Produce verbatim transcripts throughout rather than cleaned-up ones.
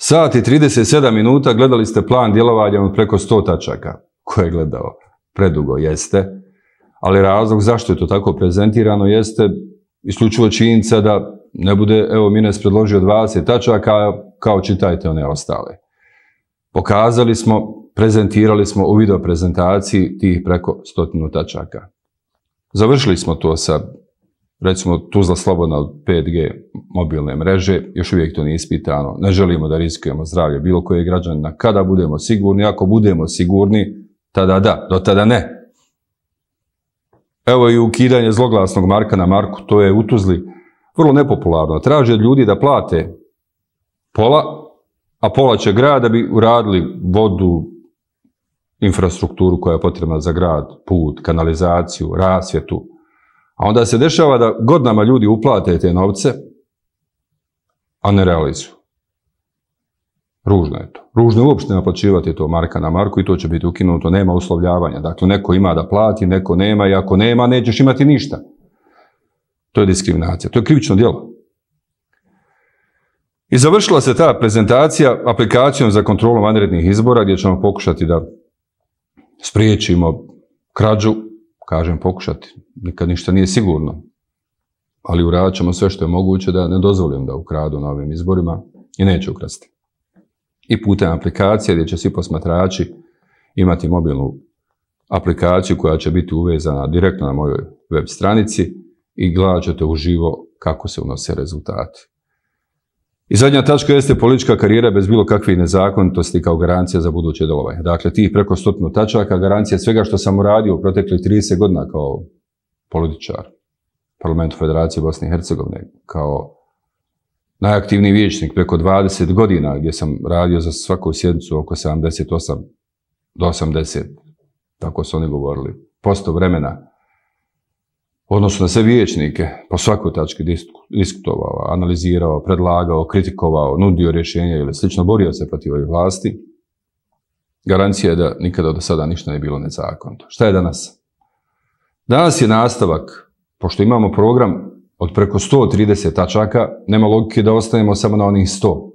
Sat i trideset sedam minuta gledali ste plan djelovanja od preko sto tačaka. Ko je gledao? Predugo jeste. Ali razlog zašto je to tako prezentirano jeste isključivo činjenica da ne bude, evo Mines predložio dvadeset tačaka, kao čitajte one ostale. Pokazali smo, prezentirali smo u video prezentaciji tih preko stotinu tačaka. Završili smo to sa, recimo, Tuzla slobodna od pet G mobilne mreže, još uvijek to nije ispitano, ne želimo da riskujemo zdravlje bilo koje građanina. Kada budemo sigurni, ako budemo sigurni, tada da, do tada ne. Evo i ukidanje zloglasnog marka na marku, to je u Tuzli vrlo nepopularno. Traže od ljudi da plate pola, a pola će grad da bi uradili vodu, infrastrukturu koja je potrebna za grad, put, kanalizaciju, rasvjetu. A onda se dešava da godinama ljudi uplate te novce, a ne realizuju. Ružno je to. Ružno je uopšte naplaćivati to marka na marku i to će biti ukinuto, nema uslovljavanja. Dakle, neko ima da plati, neko nema i ako nema, nećeš imati ništa. To je diskriminacija, to je krivično djelo. I završila se ta prezentacija aplikacijom za kontrolu vanrednih izbora gdje ćemo pokušati da spriječimo krađu, kažem pokušati, nikad ništa nije sigurno, ali uradit ćemo sve što je moguće da ne dozvolim da ukradu na ovim izborima i neće ukrasti. I putem aplikacije gdje će svi posmatrači imati mobilnu aplikaciju koja će biti uvezana direktno na mojoj web stranici i gledat ćete uživo kako se unose rezultati. I zadnja tačka jeste politička karijera bez bilo kakvih nezakonitosti kao garancija za buduće djelovanje. Dakle, tih preko stotinu tačaka, garancija svega što sam uradio u proteklih trideset godina kao političar Parlamentu Federacije Bosne i Hercegovine, kao najaktivniji vijećnik preko dvadeset godina gdje sam radio za svaku sjednicu oko sedamdeset osam do osamdeset, tako su oni govorili, posto vremena, u odnosu na sve vijećnike, po svakoj tački diskutovao, analizirao, predlagao, kritikovao, nudio rješenja ili slično, borio se protiv ovih vlasti. Garancija je da nikada do sada ništa nije bilo nezakonito. Šta je danas? Danas je nastavak, pošto imamo program od preko sto trideset tačaka, nema logike da ostanemo samo na onih sto.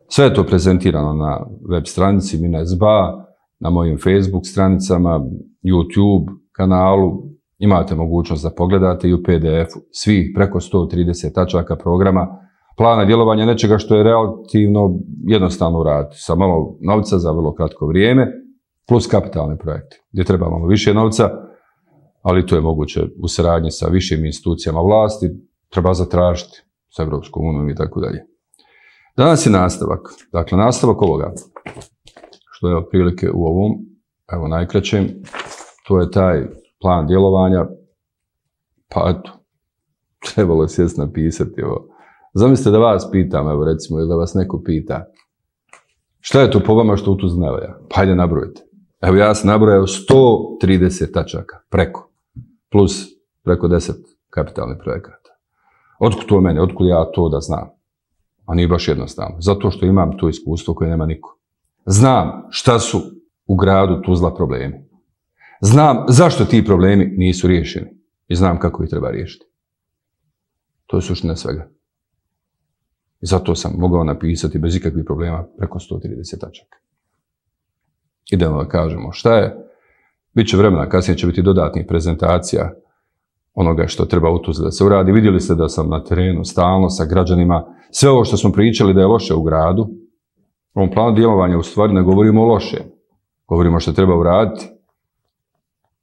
Sve je to prezentirano na web stranici Mines B A, na mojim Facebook stranicama, YouTube kanalu. Imate mogućnost da pogledate i u P D F-u svih preko sto trideset tačaka programa, plana djelovanja nečega što je relativno jednostavno uraditi, sa malo novca za vrlo kratko vrijeme, plus kapitalne projekte, gdje treba malo više novca, ali to je moguće u saradnji sa višim institucijama vlasti, treba zatražiti sa Evropskom unijom i tako dalje. Danas je nastavak, dakle nastavak ovoga, što je otprilike u ovom, evo najkraćem, to je taj plan djelovanja, pa eto, trebalo je sjest napisati ovo. Zamislite da vas pitam, evo recimo, ili da vas neko pita, šta je to po vama što u Tuzli ne valja? Pa hajde nabrojite. Evo ja sam nabrojao sto trideset tačaka, preko, plus preko deset kapitalnih projekata. Otkud to meni, otkud ja to da znam? A nije baš jednostavno, zato što imam to iskustvo koje nema niko. Znam šta su u gradu Tuzla problemi. Znam zašto ti problemi nisu riješeni i znam kako ih treba riješiti. To je suština svega. I zato sam mogao napisati bez ikakvih problema preko sto trideset tačaka. Idemo da kažemo šta je. Biće vremena, kasnije će biti dodatnih prezentacija onoga što treba u Tuzli da se uradi. Vidjeli ste da sam na terenu stalno sa građanima. Sve ovo što smo pričali da je loše u gradu, u ovom planu djelovanja u stvari ne govorimo o loše. Govorimo što treba uraditi.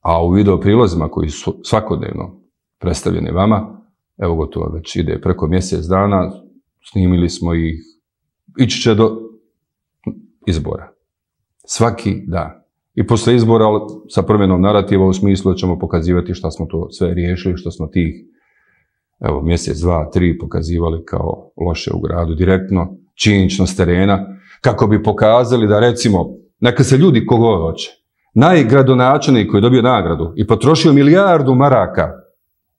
A u video prilozima koji su svakodnevno predstavljeni vama, evo gotovo već ide preko mjesec dana, snimili smo ih, ići će do izbora. Svaki dan. I posle izbora sa promjenom narativa u smislu da ćemo pokazivati šta smo to sve riješili, što smo tih evo, mjesec, dva, tri pokazivali kao loše u gradu direktno, činjenično s terena, kako bi pokazali da recimo, neka se ljudi kogo hoće, najgradonačelnik koji je dobio nagradu i potrošio milijardu maraka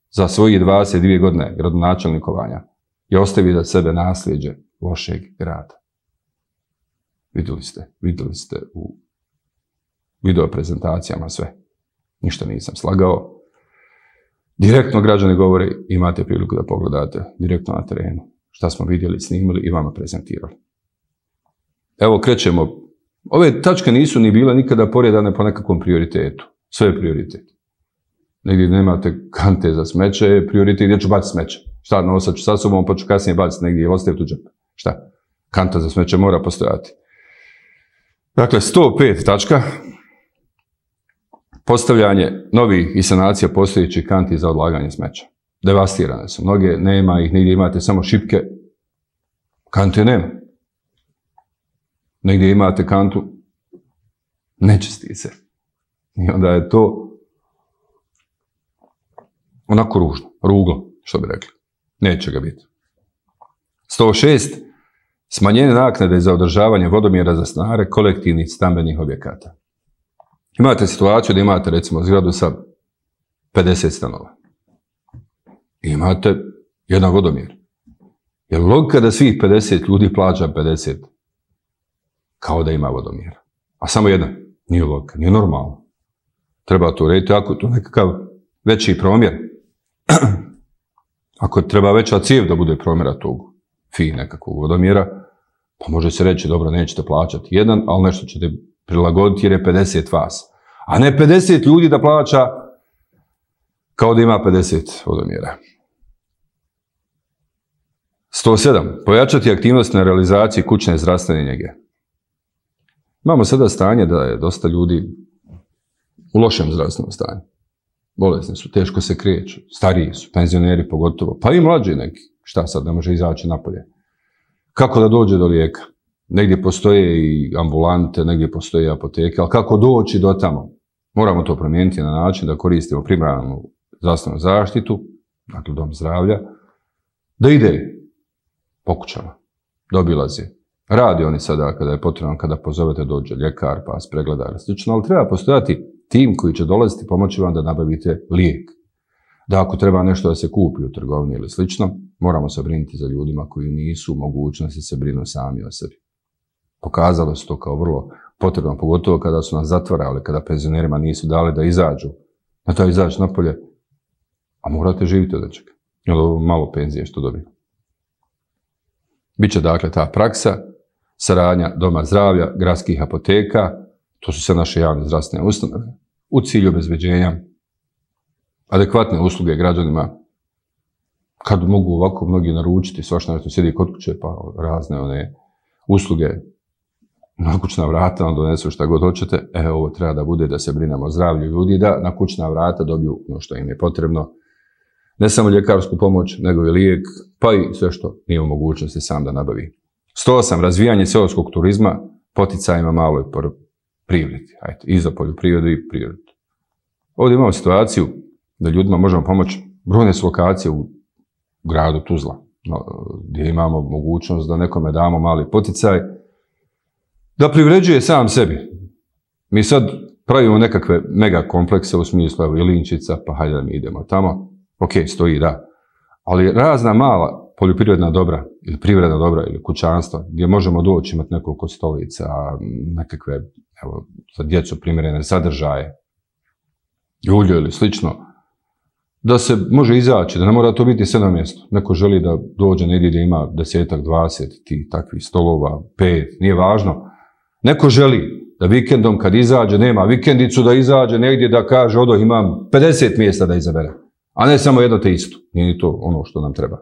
za svojih dvadeset dvije godine gradonačelnikovanja i ostavio da sebe nasljeđe lošeg grada. Vidjeli ste, vidjeli ste u video prezentacijama sve. Ništa nisam slagao. Direktno građani govore, imate priliku da pogledate direktno na terenu šta smo vidjeli, snimili i vama prezentirali. evo krećemo. Ove tačke nisu ni bile nikada poredane po nekakvom prioritetu. Sve je prioritet. Negdje nemate kante za smeće, je prioritet gdje ću baciti smeće. Šta, nosat ću sa sobom, pa ću kasnije baciti negdje ili ostaviti u džep. Šta? Kanta za smeće mora postojati. Dakle, sto pet tačka. Postavljanje novih i sanacija postojećih kanti za odlaganje smeća. Devastirane su. Mnoge nema ih, negdje imate samo šipke. Kante nema. Negdje imate kantu, nečisti se. I onda je to onako ružno, ruglo, što bi rekli. Neće ga biti. sto šest. Smanjenje naknade za održavanje vodomjera za stanare kolektivnih stambenih objekata. Imate situaciju da imate, recimo, zgradu sa pedeset stanova. I imate jedan vodomjer. Je li logika da svih pedeset ljudi plaća pedeset? Kao da ima vodomjer. A samo jedan. Nije logika, nije normalno. Treba to urediti, ako to nekakav veći promjer. Ako treba veća cijev da bude promjera tog fi nekakvog vodomjera, pa može se reći, dobro, nećete plaćati jedan, ali nešto ćete prilagoditi jer je pedeset vas. A ne pedeset ljudi da plaća kao da ima pedeset vodomjera. sto sedam. Pojačati aktivnost na realizaciji kućne zdravstvene njege. Imamo sada stanje da je dosta ljudi u lošem zdravstvenom stanju. Bolesni su, teško se kreću, stariji su, penzioneri pogotovo, pa i mlađi neki. Šta sad, ne može izaći napolje? Kako da dođe do lijeka? Negdje postoje i ambulante, negdje postoje i apoteke, ali kako doći do tamo? Moramo to promijeniti na način da koristimo primarnu zdravstvenu zaštitu, dakle dom zdravlja, da ide po kućama, da obilazi. Radi oni sada kada je potrebno, kada pozovete dođe ljekar, pa vas pregleda ili slično, ali treba postojati tim koji će dolaziti pomoći vam da nabavite lijek. Da ako treba nešto da se kupi u trgovini ili slično, moramo se brinuti za ljudima koji nisu u mogućnosti se brinu sami o sebi. Pokazalo se to kao vrlo potrebno, pogotovo kada su nas zatvarali, kada penzionerima nisu dali da izađu, na to izaći napolje, a morate živjeti od nečega. Jer ovo malo penzije što dobiju. Biće dakle ta praksa, saradnja doma zdravlja, gradskih apoteka, to su sve naše javne zdravstvene ustanove, u cilju obezbeđenja adekvatne usluge građanima, kad mogu ovako mnogi naručiti, svašta nešto sjedi kod kuće, pa razne one usluge na kućna vrata, onda donesu šta god hoćete, e, ovo treba da bude da se brinemo o zdravlju ljudi, da na kućna vrata dobiju ono što im je potrebno, ne samo ljekarsku pomoć, nego i lijek, pa i sve što nije u mogućnosti sam da nabavi. sto osam. Razvijanje seoskog turizma, poticajima maloj privredi, ajde, i za poljoprivredu i privredu. Ovdje imamo situaciju da ljudima možemo pomoći, brojne su lokacije u gradu Tuzla, gdje imamo mogućnost da nekome damo mali poticaj, da privređuje sam sebi. Mi sad pravimo nekakve mega komplekse u smislu, evo, Ilinčica, pa hajde da mi idemo tamo. Ok, stoji, da. Ali razna mala poljoprivredna dobra, ili privredna dobra, ili kućanstva, gdje možemo doći imati nekoliko stolica, nekakve, evo, za djecu primjerene sadržaje, ulje ili slično, da se može izaći, da ne mora to biti sve na mjestu. Neko želi da dođe negdje gdje ima desetak, dvadeset tih takvih stolova, pet, nije važno. Neko želi da vikendom kad izađe, nema vikendicu, da izađe negdje da kaže, odo imam pedeset mjesta da izabere, a ne samo jedno te isto. Nije ni to ono što nam treba.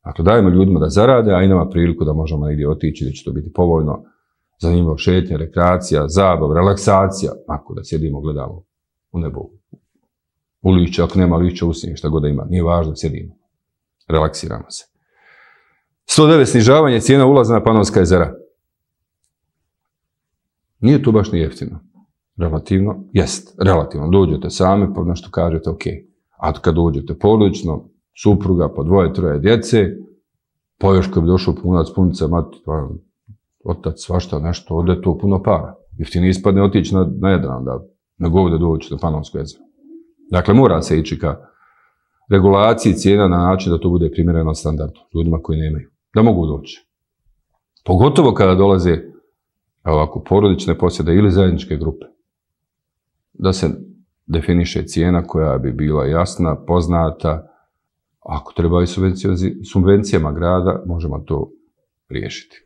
Dakle, dajemo ljudima da zarade, a i nama priliku da možemo negdje otići, da će to biti povoljno, zanimljivo šetnje, rekreacija, zabav, relaksacija, ako da sjedimo, gledamo u nebo, u lišće, ako nema lišća, usnije, šta god da ima, nije važno, sjedimo, relaksiramo se. sto devet. Snižavanje cijena ulaza na Panonska jezera. Nije to baš ni jeftino. Relativno, jest, relativno. Dođete sami, pa nešto kažete, ok. A kad dođete porodično, supruga, po dvoje, troje djece, pa još kad bi došao punac, punica, mati, pa, otac, svašta, nešto, ode to puno para. Jeftino ispadne otići na, na Jadran, da nego ovdje doći na Panonsko jezero. Dakle, mora se ići ka regulaciji cijena na način da to bude primjereno standardu ljudima koji nemaju, da mogu doći. Pogotovo kada dolaze ovako porodične posjede ili zajedničke grupe, da se definiše cijena koja bi bila jasna, poznata. Ako treba i subvencijama grada, možemo to riješiti.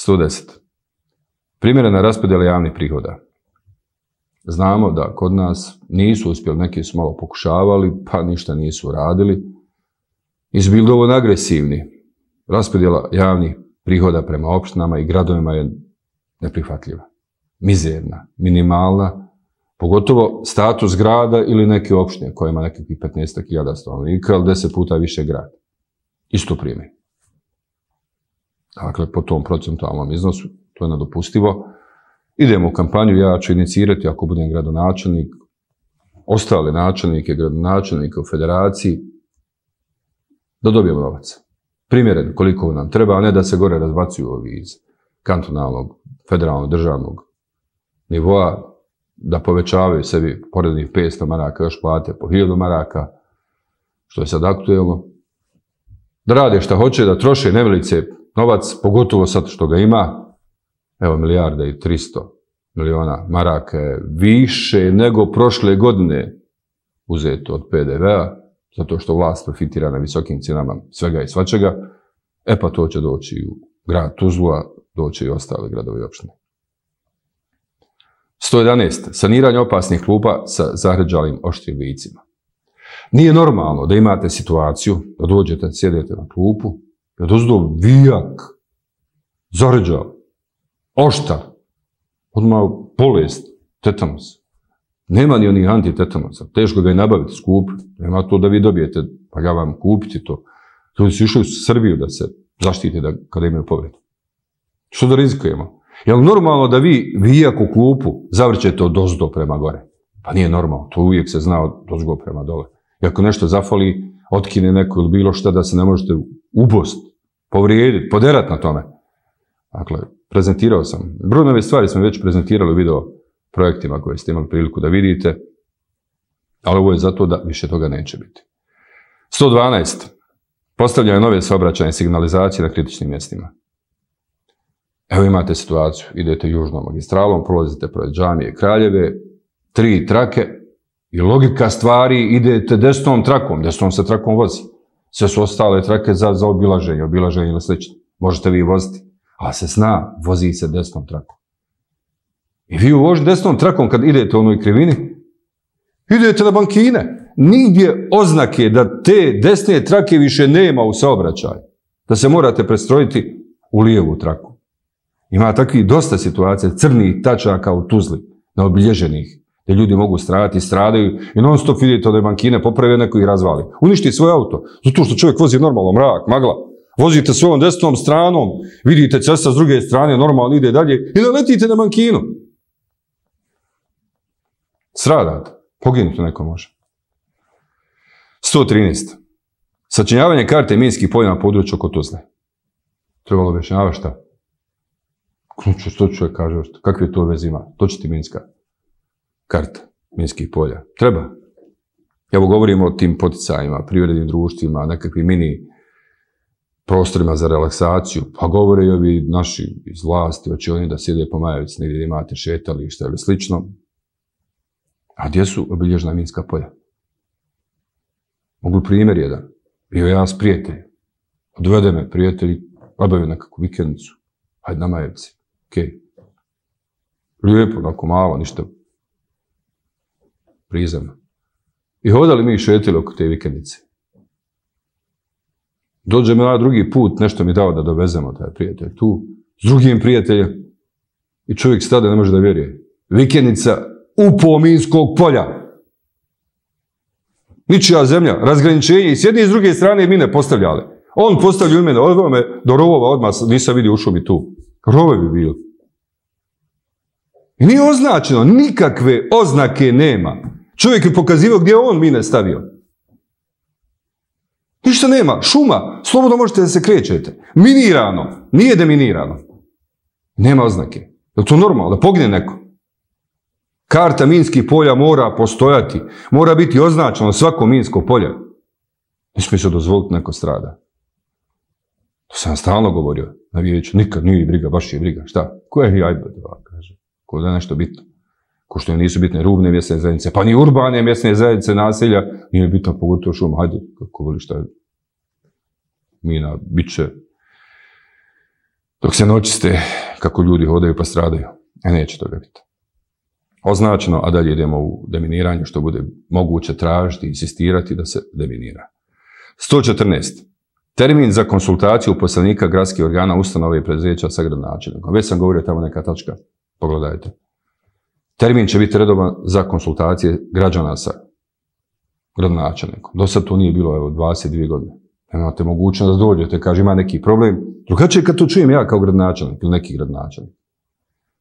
sto deset. Primjerena raspodjela javnih prihoda. Znamo da kod nas nisu uspjeli, neki su malo pokušavali, pa ništa nisu radili. I su bili dovoljno agresivni. Raspodjela javnih prihoda prema opštinama i gradovima je neprihvatljiva. Mizerna, minimalna, pogotovo status grada ili neke opštine koja ima nekakvih petnaest hiljada stanovnika ili deset puta više grad. Isto primi. Dakle, po tom procentualnom iznosu, to je nedopustivo. Idemo u kampanju, ja ću inicirati, ako budem gradonačelnik, ostale načelnike, gradonačelnike u federaciji, da dobijemo novac. Primjeren koliko nam treba, a ne da se gore razbacuju ovi iz kantonalnog, federalnog, državnog nivoa, da povećavaju sebi porednih petsto maraka, još plate po hiljadu maraka, što je sad aktuelno. Da rade šta hoće, da troše nevelice novac, pogotovo sad što ga ima. Evo, milijarda i tristo miliona maraka je više nego prošle godine uzeto od P D V-a, zato što vlast profitira na visokim cijenama svega i svačega. E pa to će doći u grad Tuzlu, a doći i ostale gradovi i opštine. sto jedanaest. Saniranje opasnih klupa sa zahređalim oštrim licima. Nije normalno da imate situaciju da dođete, sjedete na klupu, da dozdo vijak, zahređal, oštar, odmah bolest, tetanus. Nema ni onih antitetanusa, teško ga i nabaviti skup, nema to da vi dobijete, pa ja vam kupiti to. Ljudi su išli u Srbiju da se zaštite da, kada imaju povredu. Što da rizikujemo? Je li normalno da vi vijak u klupu zavrćete od ozdo prema gore? Pa nije normalno, to uvijek se zna od ozgo prema dole. I ako nešto zafali, otkine neko ili bilo šta da se ne možete ubost, povrijediti, poderati na tome. Dakle, prezentirao sam. Brojne stvari smo već prezentirali u video projektima koje ste imali priliku da vidite, ali ovo je zato da više toga neće biti. sto dvanaest. Postavljanje nove saobraćajne signalizacije na kritičnim mjestima. Evo imate situaciju, idete južnom magistralom, prolazite pored džamije Kraljeve, tri trake i logika stvari, idete desnom trakom, desnom se trakom vozi. Sve su ostale trake za, za obilaženje, obilaženje ili slično. Možete vi voziti, ali se zna, vozi se desnom trakom. I vi u desnom trakom kad idete u onoj krivini, idete na bankine. Nigdje oznake da te desne trake više nema u saobraćaju. Da se morate prestrojiti u lijevu traku. Ima takvih dosta situacija, crnih tačaka u Tuzli, neobilježenih, gdje ljudi mogu stradati, stradaju i non stop vidite od bankine, popravi neko ih razvali. Uništi svoj auto, zato što čovjek vozi normalno, mrak, magla. Vozite svojom desnom stranom, vidite cesta s druge strane, normalno ide dalje i naletite na bankinu. Stradate, poginuti neko može. sto trinaest. Sačinjavanje karte minskih polja na području oko Tuzle. Trebalo objašnjavati šta? Što čovjek kaže, kakve to veze ima? To će ti minska karta minskih polja. Treba. Evo govorimo o tim poticajima, privrednim društvima, nekakvim mini prostorima za relaksaciju, pa govore i ovi naši iz vlasti, hoće oni da sjede po Majevici, negdje imate šetališta ili slično. A gdje su obilježena minska polja? Mogu primjer jedan. Bio ja s prijateljem. Odvede me prijatelji, obavio nekakvu vikendicu. Hajde na Majevici. Okej. Lijepo, onako malo, ništa prizemno. I hodali mi šetili oko te vikendice. Dođe me na drugi put, nešto mi dao da dovezemo taj prijatelj tu, s drugim prijateljem. I čovjek stade, ne može da vjeruje. Vikendica upo minskog polja. Ničija zemlja, razgraničenje i s jedne i s druge strane mine postavljale. On postavlja u mene, odveo me do rovova odmah, nisam vidio u šumi tu. Rove bi bili. I nije označeno, nikakve oznake nema. Čovjek je pokazivao gdje on mine stavio. Ništa nema, šuma, slobodno možete da se krećete. Minirano, nije deminirano. Nema oznake. Je li to normalno, da pogine neko? Karta minskih polja mora postojati, mora biti označeno svako minsko polje. Ne smije se dozvoliti neko strada. To sam stalno govorio na vijeću, nikad nije briga, baš je briga. Šta? Ko je jajba, kaže? Ko da je nešto bitno? Ko što nisu bitne rubne mjesne zajednice, pa ni urbane mjesne zajednice naselja, nije bitno pogotovo šuma. Hajde, kako voli šta je mina, bit će. Dok se ne očiste kako ljudi hodaju pa stradaju. E neće toga biti. Označeno, a dalje idemo u deminiranje, što bude moguće tražiti i insistirati da se deminira. sto četrnaest. Termin za konsultaciju uposlenika gradskih organa, ustanove i preduzeća sa gradonačelnikom. Već sam govorio tamo neka tačka. Pogledajte. Termin će biti redovan za konsultacije građana sa gradonačelnikom. Do sad to nije bilo, evo, dvadeset dvije godine. Nemate mogućnost da dođete, kaže ima neki problem. Drugačije kad to čujem ja kao gradonačelnik ili neki gradonačelnik.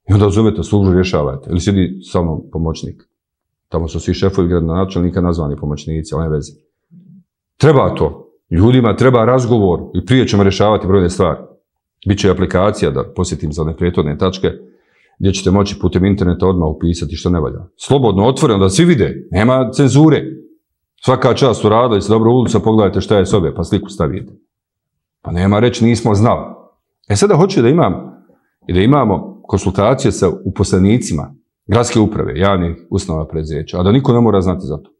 I onda zovete službu, rješavate. Ili sjedi sa mnom pomoćnik. Tamo su svi šefovi gradonačelnika nazvani pomoćnici, ali ne veze. Treba to. Ljudima treba razgovor i prije ćemo rješavati brojne stvari. Biće aplikacija, da posjetim za one prethodne tačke, gdje ćete moći putem interneta odmah upisati što ne valja. Slobodno, otvoreno, da svi vide. Nema cenzure. Svaka čast uradili se dobro u ulicu, pogledajte šta je sobe, pa sliku stavite. Pa nema reći nismo znali. E sada hoću da imam i da imamo konsultacije sa uposlenicima gradske uprave, javnih ustanova preduzeća, a da niko ne mora znati za to.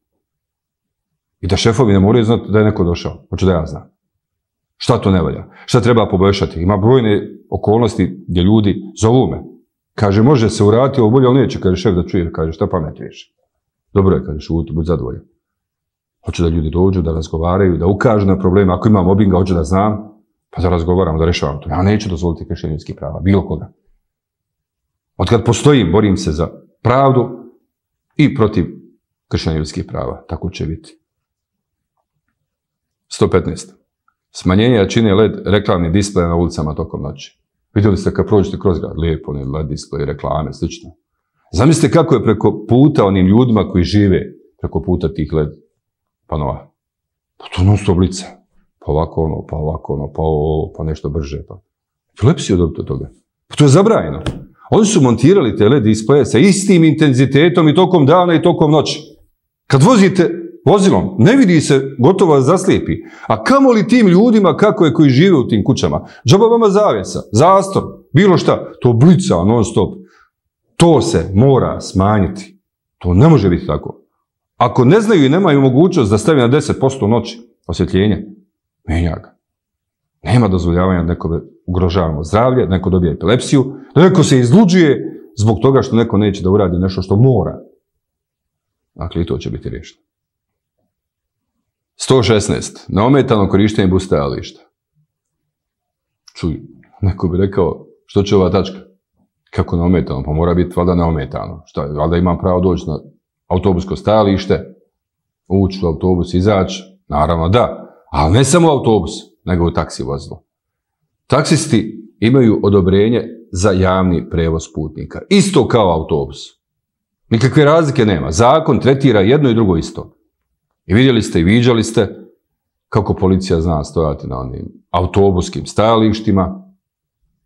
I da šefovi ne moraju znati da je neko došao. Hoću da ja znam. Šta to ne valja? Šta treba poboljšati? Ima brojne okolnosti gdje ljudi zovu me. Kaže, može se uraditi ovo bolje, ali neće, kaže šef da čuje, kaže, šta pametuješ? Dobro je, kaže, šuti, budi zadovoljan. Hoću da ljudi dođu, da razgovaraju, da ukažu na probleme. Ako ima mobinga, hoću da znam, pa da razgovaramo, da rešavam to. Ja neću dozvoliti kršenje ljudskih prava, bilo koga. Od kad postojim, borim se za pravdu i protiv kršenja ljudskih prava. Tako će biti. sto petnaest. Smanjenje jačine L E D reklamnih displeja na ulicama tokom noći. Vidjeli ste kad prođete kroz grad, lijepo, L E D displeje, reklame, slično. Zamislite kako je preko puta onim ljudima koji žive preko puta tih L E D panova. Pa to non stop lica. Pa ovako ono, pa ovako ono, pa ovo, pa nešto brže. Pa. Epilepsiju dobiti od toga. Pa to je zabranjeno. Oni su montirali te L E D displeje sa istim intenzitetom i tokom dana i tokom noći. Kad vozite vozilom, ne vidi se, gotovo vas zaslijepi. A kamo li tim ljudima kako je koji žive u tim kućama? Džaba vama zavjesa, zastor, bilo šta. To blica non stop. To se mora smanjiti. To ne može biti tako. Ako ne znaju i nemaju mogućnost da stavi na deset posto noći osvjetljenje, menja ga. Nema dozvoljavanja da nekome ugrožavamo zdravlje, da neko dobije epilepsiju, da neko se izluđuje zbog toga što neko neće da uradi nešto što mora. Dakle, i to će biti riješeno. sto šesnaest. Neometano korištenje bus stajališta. Čuj, neko bi rekao, što će ova tačka? Kako neometano? Pa mora biti valjda neometano. Šta, valjda imam pravo doći na autobusko stajalište, ući u autobus, izaći? Naravno da, ali ne samo autobus, nego u taksi vozilo. Taksisti imaju odobrenje za javni prevoz putnika. Isto kao autobus. Nikakve razlike nema. Zakon tretira jedno i drugo isto. I vidjeli ste i viđali ste kako policija zna stojati na onim autobuskim stajalištima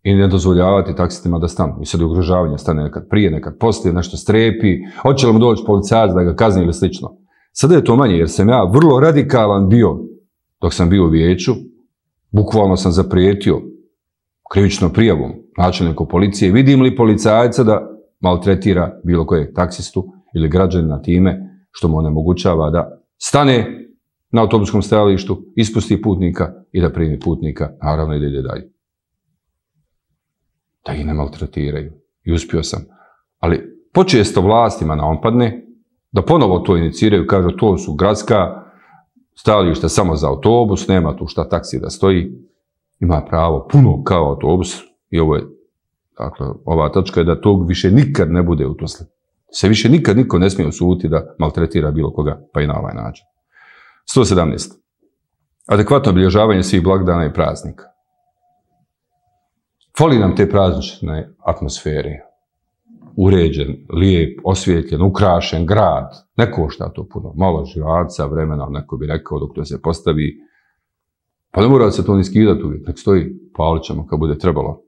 i ne dozvoljavati taksistima da stanu. I sad je ugrožavanje, stane nekad prije, nekad poslije, nešto strepi, hoće li mu doći policajac da ga kazni ili slično. Sada je to manje jer sam ja vrlo radikalan bio dok sam bio u vijeću, bukvalno sam zaprijetio krivičnom prijavom načelniku policije, vidim li policajca da maltretira bilo kojeg taksistu ili građanina time što mu onemogućava da stane na autobuskom stajalištu, ispusti putnika i da primi putnika, naravno i da ide dalje. Da ih ne maltretiraju. I uspio sam. Ali počesto vlastima naompadne da ponovo to iniciraju, kažu to su gradska stajališta samo za autobus, nema tu šta taksi da stoji. Ima pravo puno kao autobus i ovo je, dakle, ova tačka je da tog više nikad ne bude uposlen. Se više nikad niko ne smije osuditi da maltretira bilo koga, pa i na ovaj način. sto sedamnaest. Adekvatno obilježavanje svih blagdana i praznika. Fali nam te praznične atmosfere. Uređen, lijep, osvijetljen, ukrašen grad. Ne košta to puno. Malo živaca, vremena, neko bi rekao dok to se postavi. Pa ne mora se to ni skidati uvijek. Nek stoji, palit ćemo kad bude trebalo.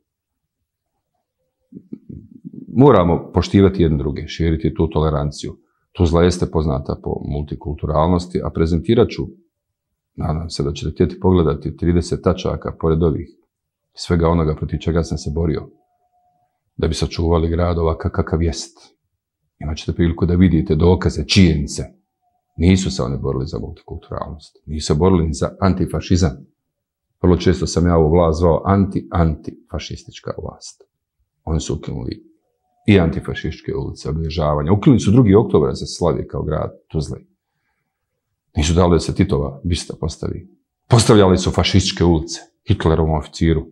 Moramo poštivati jedne druge, širiti tu toleranciju. Tuzla jeste poznata po multikulturalnosti, a prezentirat ću, nadam se da ćete htjeti pogledati trideset tačaka pored ovih, svega onoga protiv čega sam se borio, da bi sačuvali grad ovakav kakav jest. Imaćete priliku da vidite dokaze, činjenice. Nisu se oni borili za multikulturalnost, nisu se borili za antifašizam. Vrlo često sam ja ovu vlast zvao anti-antifašistička vlast. Oni su ukinuli i antifašističke ulice, obilježavanja. Ukinuli su drugi oktobar za slavi kao grad Tuzle. Nisu dali da se Titova bista postavi. Postavljali su fašističke ulice Hitlerovom oficiru,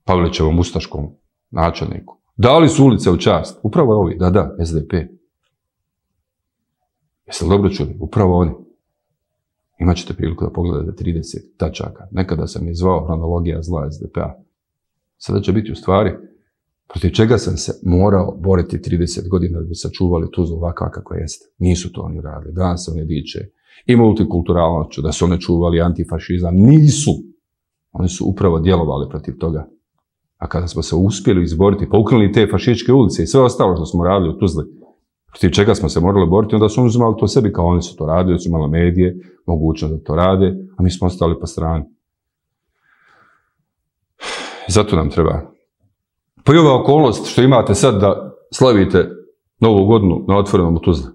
Pavelićevom ustaškom načelniku. Dali su ulice u čast. Upravo ovi, da, da, S D P. Jeste li dobro čuli? Upravo oni. Imaćete priliku da pogledate trideset tačaka. Nekada sam je zvao hronologija zla S D P-a. Sada će biti u stvari protiv čega sam se morao boriti trideset godina da bi sačuvali Tuzlu ovakva kako jeste. Nisu to oni radili. Danas se oni diče i multikulturalnošću, da su oni čuvali antifašizam. Nisu. Oni su upravo djelovali protiv toga. A kada smo se uspjeli izboriti, pa ukinuli te fašističke ulice i sve ostalo što smo radili u Tuzli, protiv čega smo se morali boriti, onda su oni uzimali to sebi kao oni su to radili, su imali medije, mogućnost da to rade, a mi smo ostali po strani. Zato nam treba. Pa i ova okolnost što imate sad da slavite Novu godinu na otvorenom u Tuzli.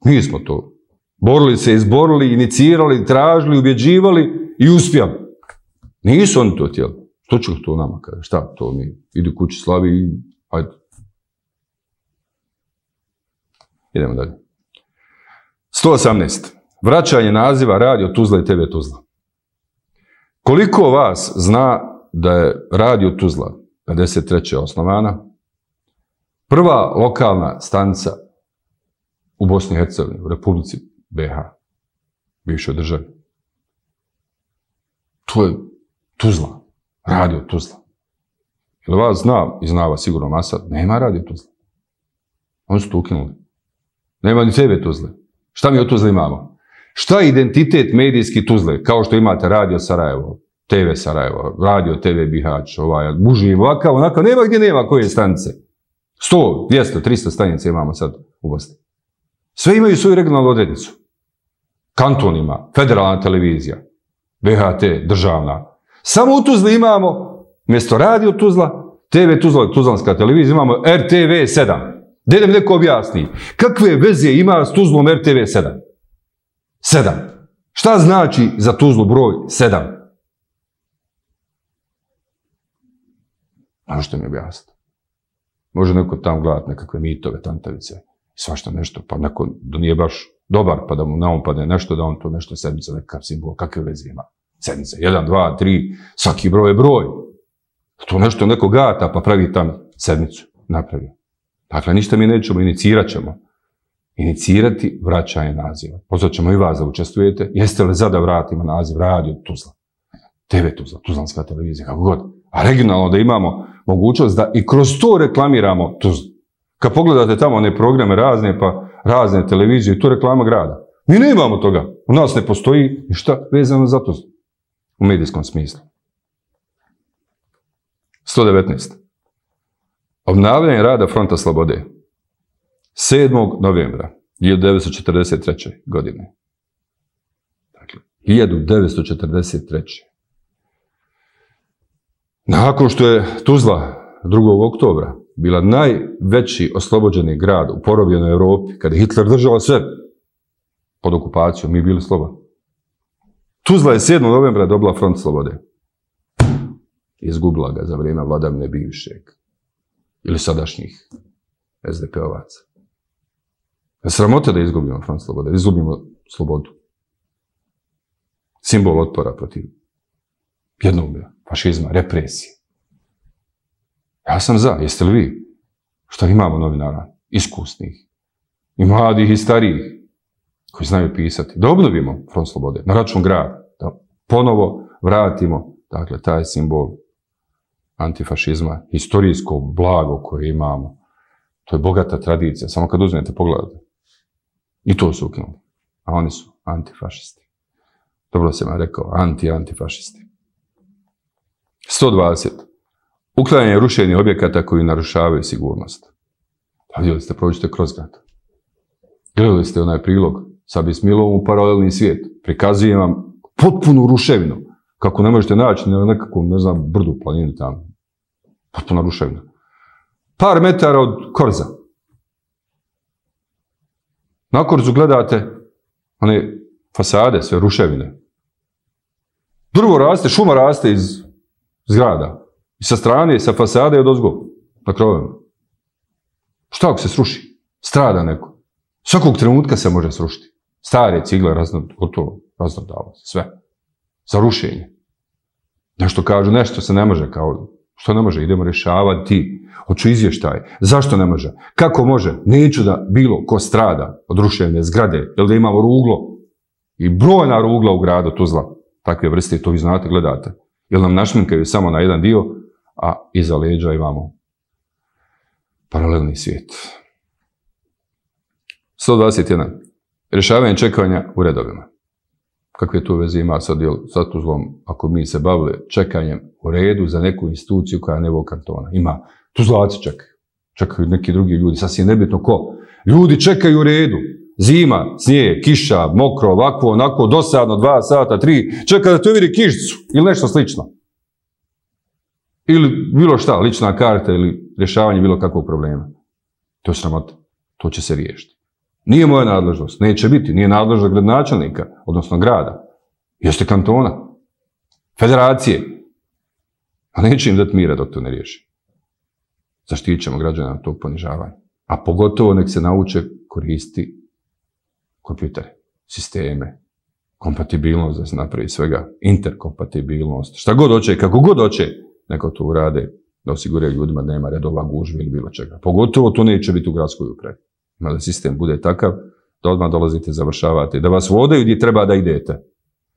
Mi smo to borili se, izborili, inicirali, tražili, ubjeđivali i uspjeli. Nisu oni to htjeli. Što će to nama kaže? Šta to mi? Idi kući slavi i ajde. Idemo dalje. sto osamnaest. Vraćanje naziva Radio Tuzla i T V Tuzla. Koliko vas zna da je Radio Tuzla pedeset treće osnovana? Prva lokalna stanica u Bosni i Hercegovini, u Republici B H, bivšoj državi. To je Tuzla, Radio Tuzla. Ili vas zna, i zna vas sigurno masa, nema Radio Tuzla. Oni su to ukinuli. Nema ni T V Tuzle. Šta mi od Tuzle imamo? Šta je identitet medijski Tuzle? Kao što imate Radio Sarajevo, T V Sarajevo, Radio T V Bihać, ovaj, Buži, ovakav, onakav, nema gdje nema koje stanice. sto, dvjesto, tristo stanica imamo sad u Bosni. Sve imaju svoju regionalnu odrednicu. Kanton ima, federalna televizija, B H T, državna. Samo u Tuzli imamo, mjesto Radio Tuzla, T V Tuzla, Tuzlanska televizija, imamo R T V sedam. Da idem neko objasni. Kakve veze ima s Tuzlom R T V sedam? sedam. Šta znači za Tuzlu broj sedam? Možete mi objasniti. Može neko tamo gledati nekakve mitove, tantavice, svašta nešto, pa neko da nije baš dobar, pa da mu na padne nešto, da on to nešto sedmice, nekakav simbol, kakve veze ima? Sedmice, jedan, dva, tri, svaki broj je broj. To nešto neko gata, pa pravi tamo sedmicu, napravi. Dakle, ništa mi nećemo, inicirat ćemo. Inicirati vraćanje naziva. Pozvat ćemo i vas da učestvujete. Jeste li za da vratimo naziv Radio Tuzla? T V Tuzla, Tuzlanska televizija, kako god. A regionalno da imamo mogućnost da i kroz to reklamiramo Tuzlu. Kad pogledate tamo one programe razne, pa razne televizije, to reklama grada. Mi ne imamo toga. U nas ne postoji ništa vezano za Tuzlu. U medijskom smislu. sto devetnaest. Obnavljanje rada Fronta Slobode. sedmog novembra hiljadu devetsto četrdeset treće. godine. Dakle, hiljadu devetsto četrdeset treće. Nakon što je Tuzla drugog oktobra bila najveći oslobođeni grad u porobljenoj Europi, kada je Hitler držao sve pod okupacijom, mi bili slobodni. Tuzla je sedmog novembra dobila Front Slobode. Izgubila ga za vrijeme vladavine bivšeg ili sadašnjih S D P-ovaca. Sramota da izgubimo Front Slobode, da izgubimo slobodu. Simbol otpora protiv jednoumlja, fašizma, represije. Ja sam za, jeste li vi? Što imamo novinara? Iskusnih, i mladih, i starijih, koji znaju pisati. Da obnovimo Front Slobode na račun grada. Da ponovo vratimo, dakle, taj simbol antifašizma, historijsko blago koje imamo. To je bogata tradicija, samo kad uzmete pogledate. I to su ukinuli. A oni su antifašisti. Dobro sam vam rekao, anti-antifašisti. sto dvadeset. Uklanjanje rušenih objekata koji narušavaju sigurnost. Pa vidjeli ste, prođite kroz grad. Gledali ste onaj prilog sa Bismilovom u paralelni svijet. Prikazujem vam potpunu ruševinu. Kako ne možete naći na nekakvom, ne znam, brdu, planini tamo. Potpuna ruševina. Par metara od Korza. Na Korzu gledate one fasade, sve ruševine. Drvo raste, šuma raste iz zgrada. I sa strane, sa fasade od ozgo, na krovima. Šta ako se sruši? Strada neko. Svakog trenutka se može srušiti. Stare cigle, raznod, gotovo, raznodava se, sve. Za rušenje. Nešto kažu, nešto se ne može, kao, što ne može, idemo rješavati, hoću izvještaj, zašto ne može, kako može, neću da bilo ko strada od ruševne zgrade, jer da imamo ruglo, i brojna rugla u gradu Tuzla, takve vrste, to vi znate, gledate, jer nam našminkaju samo na jedan dio, a iza leđa imamo paralelni svijet. sto dvadeset jedan. Rješavanje čekanja u redovima. Kakve to veze ima sa, sa Tuzlom ako mi se bavili čekanjem u redu za neku instituciju koja je nivo kantona? Ima. Tuzlaci čekaju. Čekaju neki drugi ljudi. Sasvim nebitno ko. Ljudi čekaju u redu. Zima, snijeg, kiša, mokro, ovako, onako, dosadno, dva sata, tri. Čeka da te vidi kišcu ili nešto slično. Ili bilo šta, lična karta ili rješavanje bilo kakvog problema. To je sramota. To će se riješiti. Nije moja nadležnost, neće biti, nije nadležnost gradonačelnika, odnosno grada. Jeste kantona, federacije. A neće im dati mira dok to ne riješi. Zaštitit ćemo građana na to ponižavanje. A pogotovo nek se nauče koristiti kompjutere, sisteme, kompatibilnost da se napravi svega, interkompatibilnost, šta god hoće, kako god hoće, neko to urade da osiguraju ljudima da nema redova, gužve ili bilo čega. Pogotovo to neće biti u gradskoj upravi. Ima da sistem bude takav da odmah dolazite, završavate, da vas vodaju gdje treba da idete.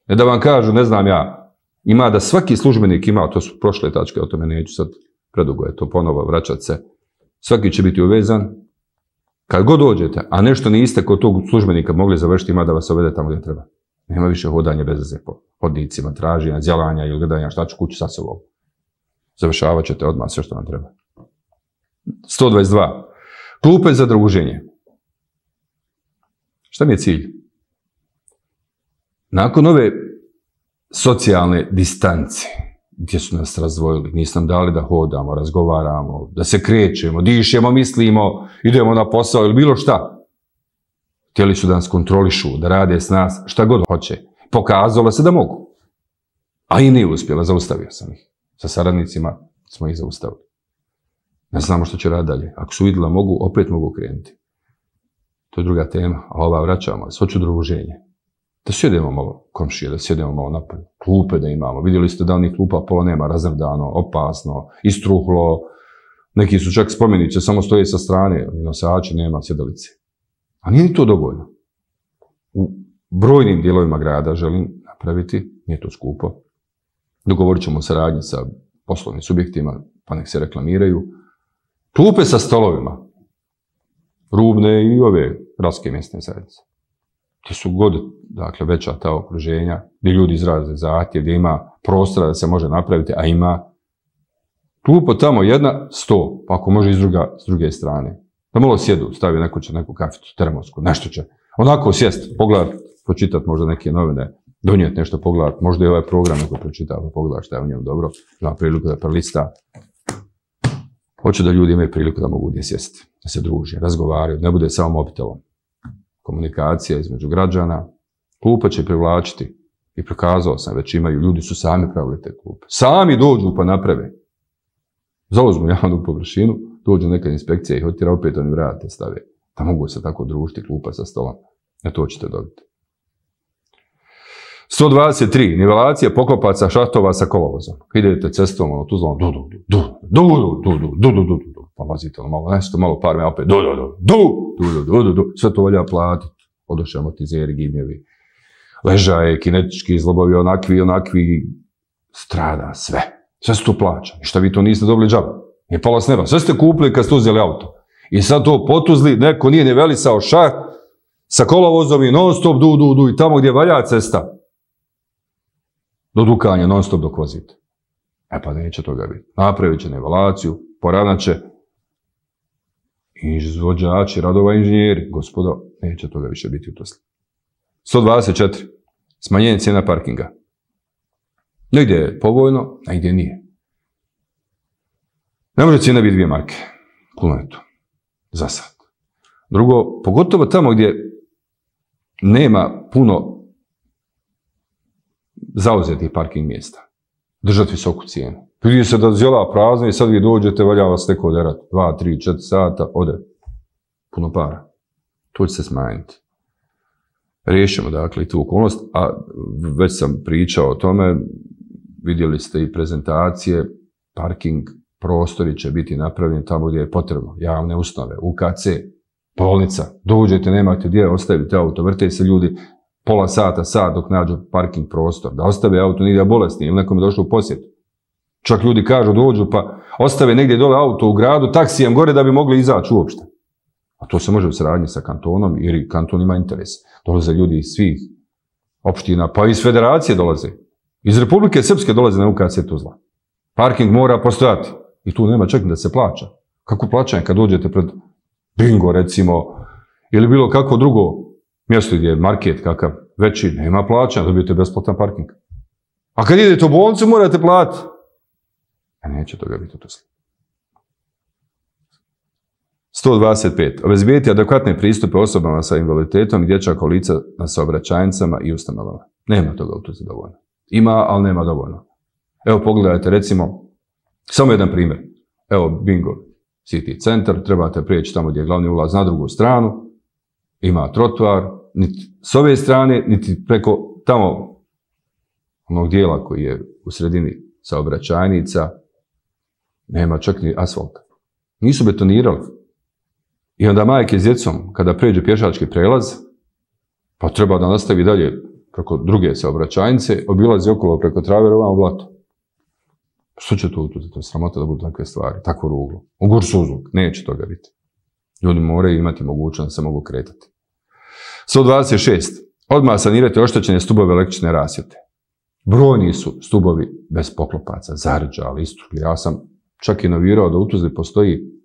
Ne da vam kažu, ne znam ja, ima da svaki službenik ima, to su prošle tačke, o tome neću sad, predugo je to ponovo vraćat se, svaki će biti uvezan, kad god dođete, a nešto niste kod tog službenika mogli završiti, ima da vas ovede tamo gdje treba. Nema više hodanja bez veze po hodnicima, traženja, zjelanja ili gledanja šta ću kući sa sobom. Završavat ćete odmah sve što vam treba. sto dvadeset dva. Klupe za druženje. Šta mi je cilj? Nakon ove socijalne distance, gdje su nas razdvojili, nisu nam dali da hodamo, razgovaramo, da se krećemo, dišemo, mislimo, idemo na posao ili bilo šta. Htjeli su da nas kontrolišu, da rade s nas šta god hoće. Pokazalo se da mogu. A i nije uspjela, zaustavio sam ih. Sa saradnicima smo ih zaustavili. Ne znamo što će raditi dalje. Ako su vidjeli da mogu, opet mogu krenuti. To je druga tema, a ova vraćamo. Hoću druženje. Da sjedemo malo komšije, da sjedemo malo napolje. Klupe da imamo. Vidjeli ste da onih klupa pola nema, razrdano, opasno, istruhlo. Neki su čak spomeniće, samo stoje sa strane, nosači nema, sjedalice. A nije ni to dovoljno. U brojnim dijelovima grada želim napraviti, nije to skupo. Dogovorit ćemo saradnje sa poslovnim subjektima, pa nek se reklamiraju. Klupe sa stolovima, rubne i ove gradske mjesne zajednice. Gdje su god, dakle, veća ta okruženja, gdje ljudi izraze zahtjev, gdje ima prostora da se može napraviti, a ima klupa tamo jedna, sto, pa ako može iz druga, s druge strane. Da malo sjedu, stavi neko će neku kaficu, termosku, nešto će. Onako sjest, pogledat, pročitat možda neke novine, donijeti nešto pogledat, možda i ovaj program neko pročita, pa pogledat šta je u njemu dobro, ima priliku da prelista. Hoću da ljudi imaju priliku da mogu gdje sjesti, da se druže, razgovaraju, ne bude samo mobitelom. Komunikacija između građana, klupa će privlačiti i prokazao sam, već imaju, ljudi su sami pravili te klupe. Sami dođu pa naprave. Zauzmu javnu površinu, dođu neka inspekcija i hotira, opet oni vrate stave. Da mogu se tako družiti, klupa sa stolom. E to ćete dobiti. sto dvadeset tri. Nivelacija poklopaca šahtova sa kolovozom. Kad idete cestom, ono, Tuzlom, du, du, du, du, du, du, du, du, du, du, pa vazite malo, nešto malo par me, opet, du, du, du, du, du, du, du, sve to valja platiti. Odoše amortizeri, gibnjevi, ležaje, kinetički izlobovi, onakvi, onakvi, strada, sve. Sve se to plaća. I šta vi to niste dobili džaba? Nije pala s neba. Sve ste kupili kad ste uzeli auto. I sad to potuzli, neko nije nivelisao šaht sa kolovozom i non stop, du, du, du, i tamo gdje valja cesta. Do dukanja, non stop dok vozite. E pa neće toga biti. Napravit će nivelaciju, poravnat će izvođači, radova inženjeri. Gospodo, neće toga više biti u Tuzli. sto dvadeset četiri. Smanjenje cijena parkinga. Negdje je povoljno, negdje nije. Ne može cijena biti dvije marke. Kilometru. Za sad. Drugo, pogotovo tamo gdje nema puno zauzeti parking mjesta. Držati visoku cijenu. Vidi se da zjela prazna i sad vi dođete, valja vas neko oderat. Dva, tri, četiri sata, ode. Puno para. To će se smanjiti. Riješimo dakle i tu okolnost, a već sam pričao o tome, vidjeli ste i prezentacije, parking prostori će biti napravljeni tamo gdje je potrebno, javne ustanove, U K C, bolnica, dođete, nemate gdje, ostavite auto, vrte se ljudi pola sata, sat dok nađu parking prostor, da ostave auto nigdje bolesni ili nekom je došlo u posjet. Čak ljudi kažu dođu pa ostave negdje dole auto u gradu, taksijem gore da bi mogli izaći uopšte. A to se može u saradnji sa kantonom, jer i kanton ima interes. Dolaze ljudi iz svih opština, pa iz federacije dolaze. Iz Republike Srpske dolaze na U K C Tuzla. Parking mora postojati. I tu nema čak da se plaća. Kako plaćanje kad dođete pred Bingo, recimo, ili bilo kako drugo mjesto gdje je market kakav veći, nema plaćanja, dobijete besplatan parking. A kad idete u bolnicu morate platiti. A neće toga biti u Tuzli. sto dvadeset pet. Obezbijeti adekvatne pristupe osobama sa invaliditetom i dječja kolica na saobraćajnicama i ustanovama. Nema toga u Tuzli dovoljno. Ima, ali nema dovoljno. Evo pogledajte, recimo, samo jedan primjer. Evo Bingo City centar, trebate prijeći tamo gdje je glavni ulaz na drugu stranu, ima trotoar, niti s ove strane, niti preko tamo onog dijela koji je u sredini saobraćajnica, nema čak ni asfalta. Nisu betonirali. I onda majke s djecom, kada pređe pješački prelaz, pa treba da nastavi dalje preko druge saobraćajnice, obilazi okolo preko traverova u blato. Što će to utuzeti? To je sramota da budu takve stvari, takvo ruglo. Ugur suzluk, neće toga biti. Ljudi moraju imati mogućnost da se mogu kretati. sto dvadeset šest. Odmah sanirati oštećene stubove električne rasvjete. Brojni su stubovi bez poklopaca, zarđali, istrukli. Ja sam čak i novirao da u Tuzli postoji,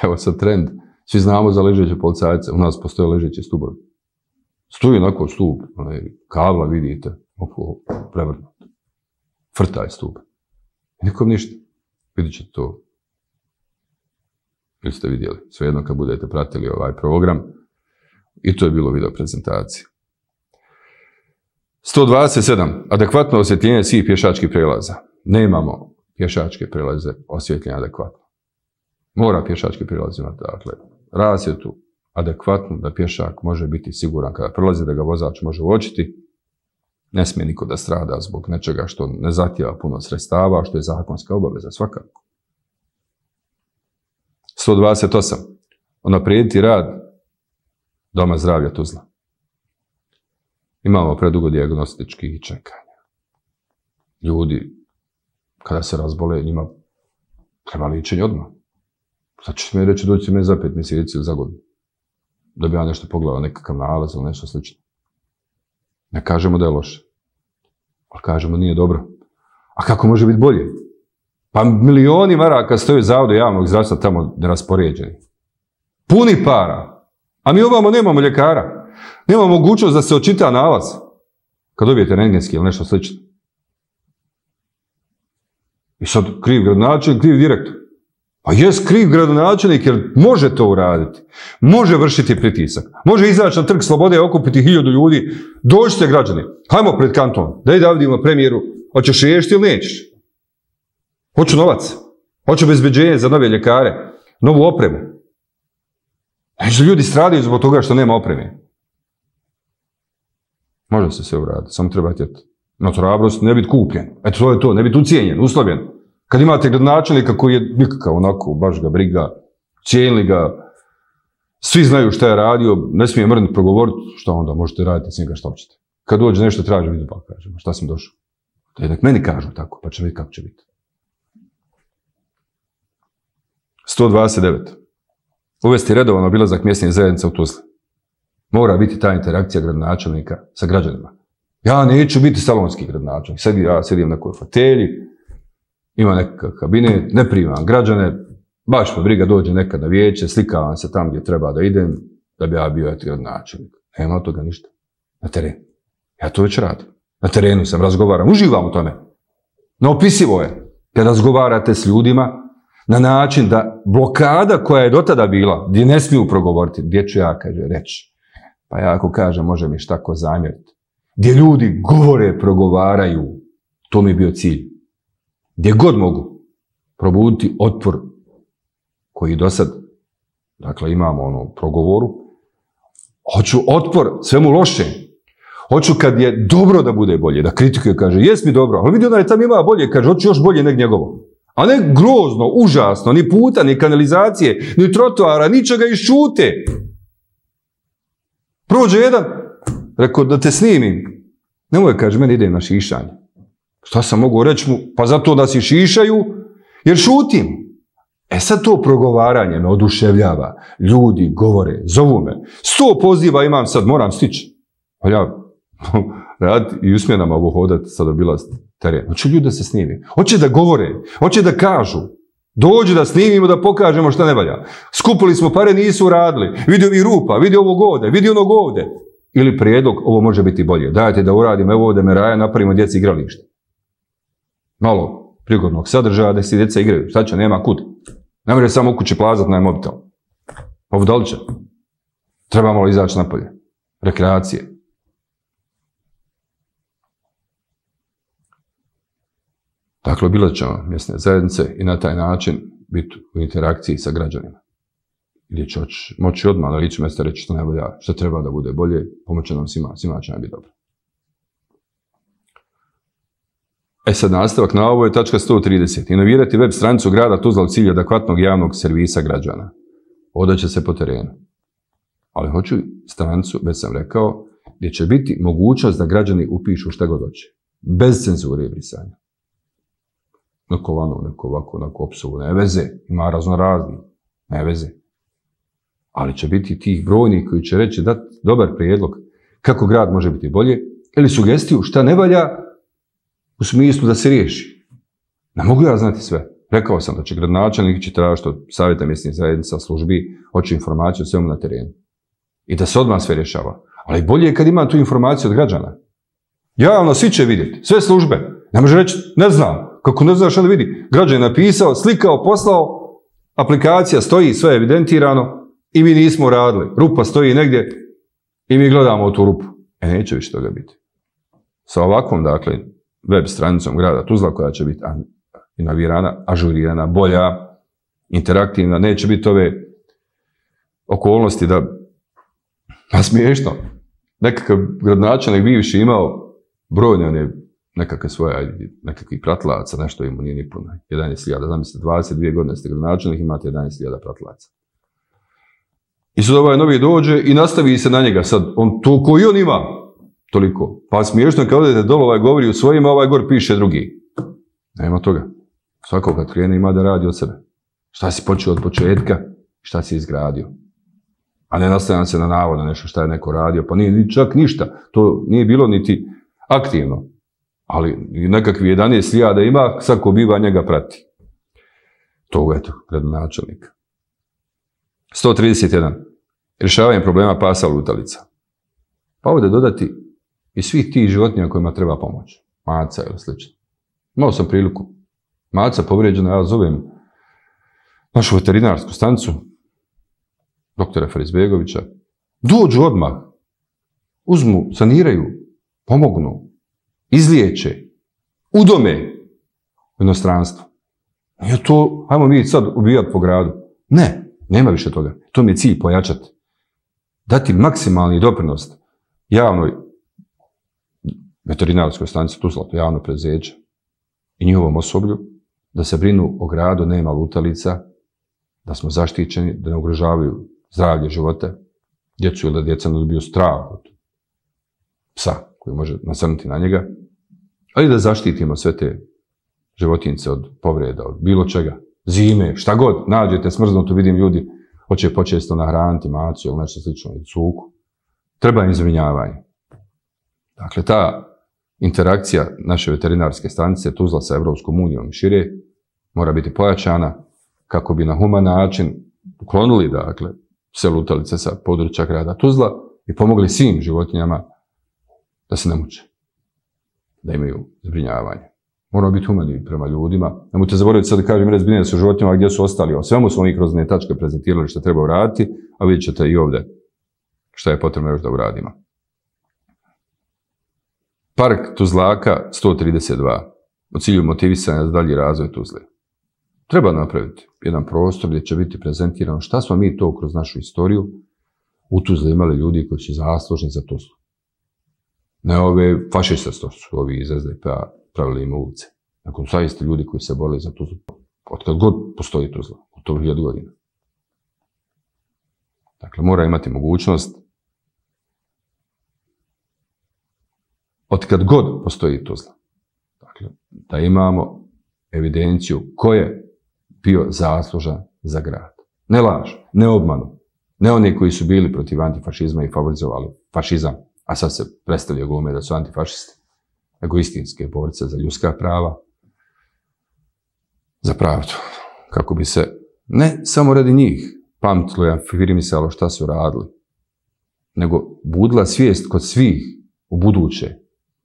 evo sad trend, svi znamo za ležeće policajce, u nas postoje ležeći stubovi. Stoji onako stup, kabla vidite, oko prevrnuto. Frtaj stup. Nikom ništa. Vidjet ćete to. Ili ste vidjeli. Svejedno kad budete pratili ovaj program. I to je bilo video prezentacije. sto dvadeset sedam. Adekvatno osvjetljenje svih pješačkih prelaza. Nemamo pješačke prelaze osvjetljene adekvatno. Mora pješački prelaz imati, dakle, rasvjetu adekvatnu da pješak može biti siguran kada prelazi, da ga vozač može uočiti. Ne smije niko da strada zbog nečega što ne zahtijeva puno sredstava, što je zakonska obaveza svakako. sto dvadeset osam. Unaprijediti rad Doma zdravlja Tuzla. Imamo predugo dijagnostičkih čekanja. Ljudi, kada se razbole, njima treba liječenje odmah. Sad ćeš mi reći, doći me za pet mjeseci ili za godinu. Da bi ja nešto pogledao, nekakav nalaz ili nešto slično. Ne kažemo da je loše. Ali kažemo nije dobro. A kako može biti bolje? Pa milioni maraka stoje u Zavodu javnog zdravstva tamo neraspoređeni. Puni para. A mi ovamo nemamo ljekara. Nemamo mogućnost da se očita nalaz. Kad dobijete rentgenski ili nešto slično. I sad kriv gradonačelnik, kriv direktor. Pa jes kriv gradonačelnik jer može to uraditi. Može vršiti pritisak. Može izaći na Trg Slobode i okupiti hiljadu ljudi. Dođite građani. Hajmo pred kanton. Daj da vidimo premijeru. Hoćeš riješiti ili nećeš? Hoću novac. Hoću obezbeđenje za nove ljekare. Novu opremu. Znači ljudi stradaju zbog toga što nema opreme. Može se sve uraditi. Samo treba htjeti. Na hrabrost ne biti kupljen. Eto to je to. Ne biti ucijenjen, uslovljen. Kad imate gradonačelnika koji je nikakav onako, baš ga briga, cijenili ga, svi znaju šta je radio, ne smije mrnut progovoriti, šta onda možete raditi s njega šta hoćete. Kad dođe nešto traži, vidi pa kažemo, šta sam došao. Da nek meni kažu tako, pa će vidjeti kako će biti. sto dvadeset devet. Uvesti redovan obilazak mjesnih zajednica u Tuzli. Mora biti ta interakcija gradonačelnika sa građanima. Ja neću biti salonski gradonačelnik. Sad ja sedim na nekoj fotelji, ima nekakav kabinet, ne primam građane, baš me briga dođe nekad na vijeće, slikavam se tam gdje treba da idem, da bi ja bio eto gradonačelnik. Nema od toga ništa. Na terenu. Ja to već radim. Na terenu sam, razgovaram, uživam u tome. Neopisivo je kad razgovarate s ljudima na način da blokada koja je do tada bila, gdje ne smiju progovoriti, gdje ću ja, kaže, reći. Pa ja ako kažem, može mi šta ko zamjeriti. gdje ljudi govore, progovaraju. To mi je bio cilj. Gdje god mogu probuditi otpor koji do sad, dakle imamo ono progovoru, hoću otpor svemu lošem. Hoću kad je dobro da bude bolje, da kritikuje, kaže, jes mi dobro, ali vidi onaj tam ima bolje, kaže, hoću još bolje nek njegovo. A ne grozno, užasno, ni puta, ni kanalizacije, ni trotoara, ničega iščute. Prođe jedan, rekao da te snimim. Nemoj, kaže, meni ide na šišanje. Šta sam mogu reći mu? Pa zato da si šišaju, jer šutim. E sad to progovaranje me oduševljava. Ljudi govore, zovu me. Sto poziva imam sad, moram stići. Pa ja rad i usmjenama ovo hodati sad obilast teren. Hoće ljudi da se snimi. Hoće da govore. Hoće da kažu. Dođu da snimimo, da pokažemo šta ne valja. Skupili smo pare, nisu radili. Vidi ovi rupa, vidi ovog ovde, vidi onog ovde. Ili prijedlog, ovo može biti bolje. Dajte da uradimo, evo ovde meraja, napravimo djeci igralište. Malo prigodnog sadržaja, da si djeca igraju. Šta će, nema kud. Ne može samo u kući plazat na mobitel. Ovo da li će? Treba malo izaći napolje. Rekreacije. Dakle, obilat ćemo mjesne zajednice i na taj način biti u interakciji sa građanima. Gdje će moći odmah na licu mjesta reći što ne valja, što treba da bude bolje, pomoće nam svima, svima će nam biti dobro. E sad nastavak na ovo je tačka sto trideset. Inovirati web stranicu grada Tuzla u cilju adekvatnog javnog servisa građana. Ovdje će se po terenu. Ali hoću stranicu, već sam rekao, gdje će biti mogućnost da građani upišu šta god hoće. Bez cenzure i brisanja. Neko vano, neko ovako, neko opsovu, ne veze. Ima razno razni, ne veze. Ali će biti tih brojnih koji će reći dati dobar prijedlog kako grad može biti bolje ili sugestiju šta ne valja u smislu da se riješi. Ne mogu ja znati sve. Rekao sam da će gradonačelnik će tražiti od savjeta mjesnih zajednica službi, hoće informaciju o svemu na terenu. I da se odmah sve rješava. Ali bolje je kad ima tu informaciju od građana. Javno svi će vidjeti, sve službe. Ne može reći, ne znam. Kako ne znaš šta da vidi. Građan je napisao, slikao, poslao, aplikacija stoji, sve je evidentirano i mi nismo radili. Rupa stoji negdje i mi gledamo u tu rupu. E, neće više toga biti. Sa ovakvom, dakle, web stranicom grada Tuzla koja će biti inovirana, ažurirana, bolja, interaktivna, neće biti ove okolnosti da, pa smiješno, nekakav gradonačelnik bivši imao brojne one nekakve svoje, nekakvih pratilaca, nešto im nije ni puno, jedanaest hiljada, zamislite, dvadeset dvije godine ste gradonačelnik, imate jedanaest hiljada pratilaca. I sad ovaj novi dođe i nastavi se na njega sad, on to koji on ima, toliko. Pa smiješno kad odete dole, ovaj govori u svojima, ovaj gor piše drugi. Nema toga. Svako kad krene ima da radi od sebe. Šta si počeo od početka, šta si izgradio. A ne nastavljam se na navod na nešto šta je neko radio, pa nije čak ništa. To nije bilo niti aktivno. Ali nekakvi jedanaest hiljada ima, sad ko biva njega prati. To eto, gradonačelnika. sto trideset jedan. Rješavanje problema pasa lutalica. Pa ovdje dodati i svih tih životinja kojima treba pomoć. Maca ili slično. Imao sam priliku. Maca povrijeđena, ja zovem našu veterinarsku stanicu, doktora Farizbegovića. Dođu odmah. Uzmu, saniraju, pomognu, izliječe, udome u inostranstvo. Nije to, hajmo mi sad ubijati po gradu. Ne, nema više toga. To mi je cilj pojačati. Dati maksimalni doprinos javnoj veterinarskoj stanici Tuzla, to javno preduzeće, i njihovom osoblju, da se brinu o gradu, nema lutalica, da smo zaštićeni, da ne ugrožavaju zdravlje života, djecu ili da djeca ne dobiju strah od psa koji može nasrnuti na njega, ali da zaštitimo sve te životinjice od povreda, od bilo čega, zime, šta god, nađete smrznuto, vidim ljudi, hoće počesto nahraniti macu ili nešto slično, ili cuku. Treba im zbrinjavanje. Dakle, ta interakcija naše veterinarske stanice Tuzla sa Evropskom unijom i šire mora biti pojačana kako bi na human način uklonili, dakle, sve lutalice sa područja grada Tuzla i pomogli svim životinjama da se ne muče, da imaju zbrinjavanje. Moramo biti humani prema ljudima. Nemojte zaboraviti sad da kažem, red zbrinjaju sa životinjama gdje su ostali. O svemu smo mi kroz ne tačke prezentirali što treba uraditi, a vidjet ćete i ovdje šta je potrebno još da uradimo. Park Tuzlaka sto trideset dva. U cilju motivisanja za dalji razvoj Tuzle. Treba napraviti jedan prostor gdje će biti prezentirano šta smo mi to kroz našu istoriju u Tuzli imali ljudi koji su zaslužni za Tuzlu. Ne ove fašiste što su ovi iz S D P-a pravili im ulice. Nego zaista ljudi koji se borili za Tuzlu. Od kad god postoji Tuzla, u to hiljadu godina. Dakle, mora imati mogućnost od kad god postoji Tuzla. Dakle, da imamo evidenciju ko je bio zaslužan za grad. Ne laž, ne obmanu, ne oni koji su bili protiv antifašizma i favorizovali fašizam, a sad se predstavlja glume da su antifašisti, nego istinske borce za ljudska prava, za pravdu. Kako bi se, ne samo radi njih, pametilo i afirmisalo šta su radili, nego budila svijest kod svih u buduće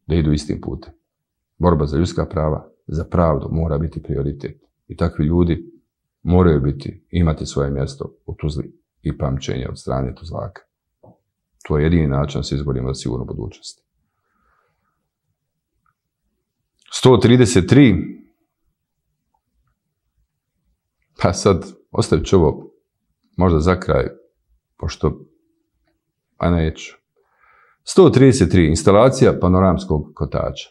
da idu istim putem. Borba za ljudska prava, za pravdu mora biti prioritet. I takvi ljudi moraju biti, imati svoje mjesto u Tuzli i pamćenje od strane Tuzlaka. To je jedini način da se izborimo za sigurnu budućnost. sto trideset tri. Pa sad, ostavit ću ovo možda za kraj, pošto, a neću. sto trideset tri. Instalacija panoramskog kotača.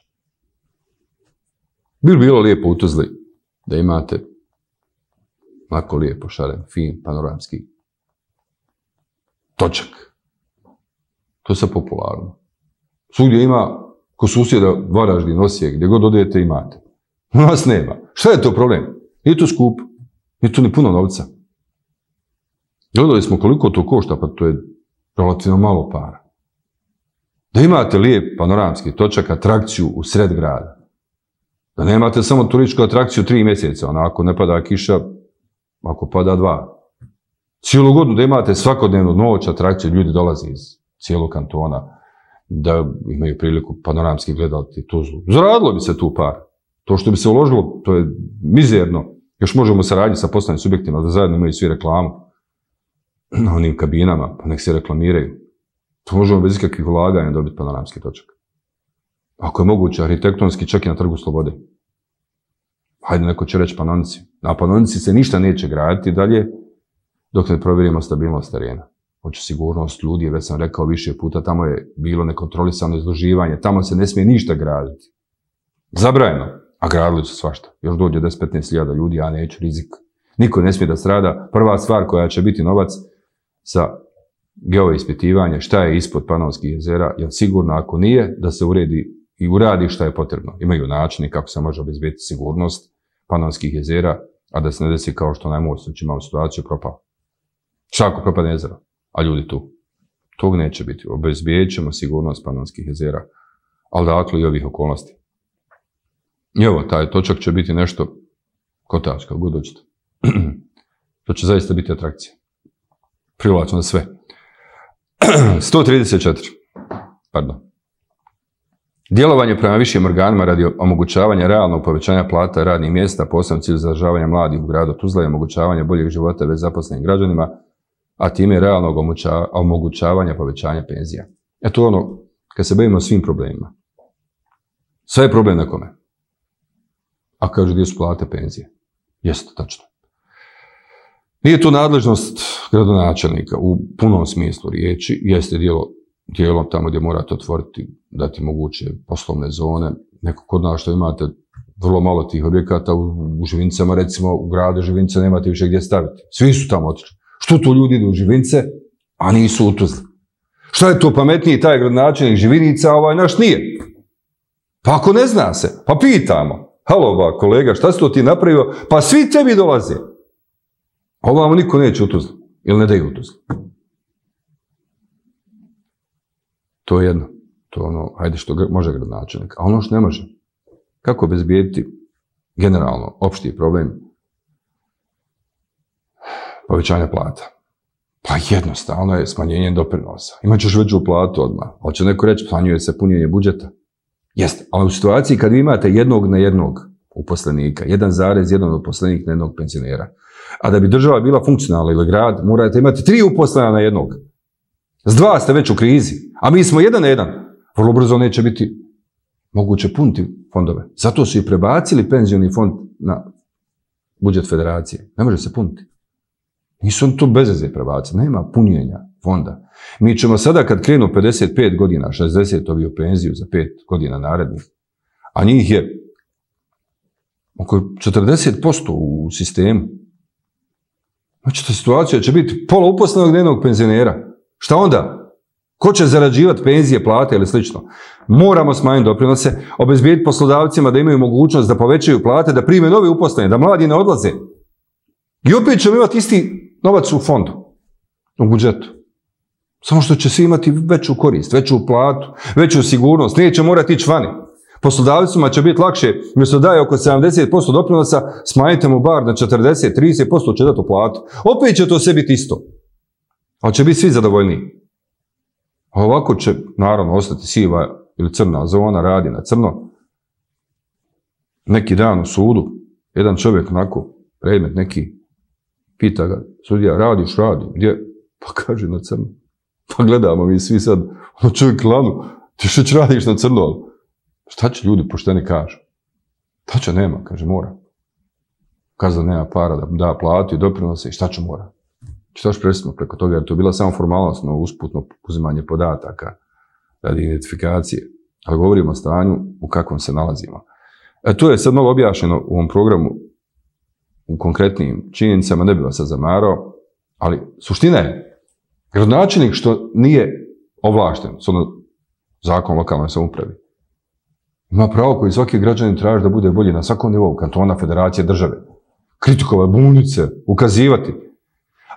Bilo bilo lijepo u Tuzli da imate lako lijepo, šaren, fin, panoramski točak. To je sad popularno. Svugdje ima, ko susjeda Varaždin, Osijek, gdje god odete imate. U nas nema. Šta je to problem? Nije to skup. Nije to ni puno novca. Gledali smo koliko to košta, pa to je relativno malo para. Da imate lijep panoramski točak, atrakciju u sred grada. Da nemate samo turističku atrakciju tri mjeseca, ona ako ne pada kiša, ako pada dva. Cijelu godinu da imate svakodnevnu noć atrakciju, ljudi dolaze iz cijelog kantona, da imaju priliku panoramski gledati Tuzlu. Zaradilo bi se tu par. To što bi se uložilo, to je mizerno. Još možemo saradnji sa poslovnim subjektima da zajedno imaju svi reklamu na onim kabinama, pa nek se reklamiraju. To možemo bez ikakvih ulaganja dobiti panoramski točak. Ako je moguće, arhitektonski čak i na Trgu Slobode. Hajde, neko će reći Panonici. Na Panonici se ništa neće graditi dalje dok ne provjerimo stabilnost terena. Hoće sigurnost ljudi, već sam rekao više puta, tamo je bilo nekontrolisano izloživanje, tamo se ne smije ništa graditi. Zabrajeno, a gradili su svašta. Još dođe deset do petnaest hiljada ljudi, ja neću rizik. Niko ne smije da strada. Prva stvar koja će biti novac za geoispitivanje, šta je ispod Panonskih jezera, jer sigurno ako nije, da se uredi i uradi šta je potrebno. Imaju načini kako se može obezbediti sigurnost Panonskih jezera, a da se ne desi kao što onaj most, već imamo situaciju propao. Šta ako propadne jezero, a ljudi tu? Tog neće biti. Obezbedit ćemo sigurnost Panonskih jezera, ali dakle i ovih okolnosti. I evo, taj točak će biti nešto kotač, kako god hoćete. To će zaista biti atrakcija. Privlačno za sve. sto trideset četiri. Pardon. Djelovanje prema višim organima radi omogućavanja realnog povećanja plata radnih mjesta, posebno cilj zadržavanja mladih u gradu Tuzla i omogućavanja boljeg života već zaposlenim građanima, a time realnog omogućavanja povećanja penzija. Eto ono, kad se bavimo svim problemima. Sve je problem na kome. A kažu gdje su plate, penzije. Jeste, tačno. Nije to nadležnost gradonačelnika u punom smislu riječi, jeste dijelo, dijelom tamo gdje morate otvoriti, dati moguće poslovne zone. Neko kod nas što imate vrlo malo tih objekata, u, u Živincama recimo, u gradu Živinca nemate više gdje staviti. Svi su tamo otišli. Što to ljudi idu u Živince, a nisu u Tuzli? Šta je to pametniji taj gradonačelnik Živinica, a ovaj naš nije? Pa ako ne zna se, pa pitamo. Halo ba, kolega, šta si to ti napravio? Pa svi tebi dolaze. A ovamo niko neće u Tuzli. Ili ne daju u Tuzli. To je jedno. To je ono, hajde što može gradonačelnik. A ono što ne može. Kako obezbijediti generalno opšti problem povećanja plata? Pa jednostavno je smanjenje doprinosa. Imaćeš veću platu odmah. Ali će neko reći, smanjuje se punjenje budžeta. Jeste, ali u situaciji kad vi imate jednog na jednog uposlenika, jedan zarez jedan uposlenik na jednog penzionera, a da bi država bila funkcionalna ili grad, morate imati tri uposlena na jednog. S dva ste već u krizi, a mi smo jedan na jedan. Vrlo brzo neće biti moguće puniti fondove. Zato su i prebacili penzioni fond na budžet federacije. Ne može se puniti. Nisu on to bez veze prebacili. Nema punjenja fonda. Mi ćemo sada kad krenu pedeset pet godina, šezdeset ovi u penziju za pet godina narednih, a njih je oko četrdeset posto u sistemu. Znači, ta situacija će biti pola uposlenog dnevnog penzionera. Šta onda? Ko će zarađivati penzije, plate ili slično? Moramo smanjiti doprinose, obezbijediti poslodavcima da imaju mogućnost da povećaju plate, da prime nove uposlene, da mladi ne odlaze. I opet ćemo imati isti novac u fondu, u budžetu. Samo što će svi imati veću korist, veću platu, veću sigurnost, neće morati ići vani. Poslodavcima će biti lakše, mjesto daje oko sedamdeset posto doprinosa, smanjite mu bar na četrdeset do trideset posto će dati u platu. Opet će to sve biti isto. Ali će biti svi zadovoljniji. A ovako će, naravno, ostati siva ili crna zona, radi na crno. Neki dan u sudu, jedan čovjek onako, predmet neki, pita ga, sudija, radiš, radi, gdje? Pa kaže na crno. Pa gledamo mi svi sad, ono čovjek lanu, ti što će radiš na crno? Šta će ljudi pošteni kažu? Šta će nema, kaže, mora. Kaže da nema para da da platu i doprinose i šta će mora. Šta će presimo preko toga, jer to je bila samo formalnostno, usputno uzimanje podataka radi identifikacije. Ali govorimo o stanju u kakvom se nalazimo. E, to je sad malo objašnjeno u ovom programu u konkretnim činjenicama, ne bi vas sad zamarao, ali suština je, gradonačelnik što nije ovlašten, s ono zakon o lokalnoj samoupravi, ima pravo koji svaki građanin traži da bude bolji na svakom nivou, kantona, federacije, države. Kritikovati, buniti se, ukazivati.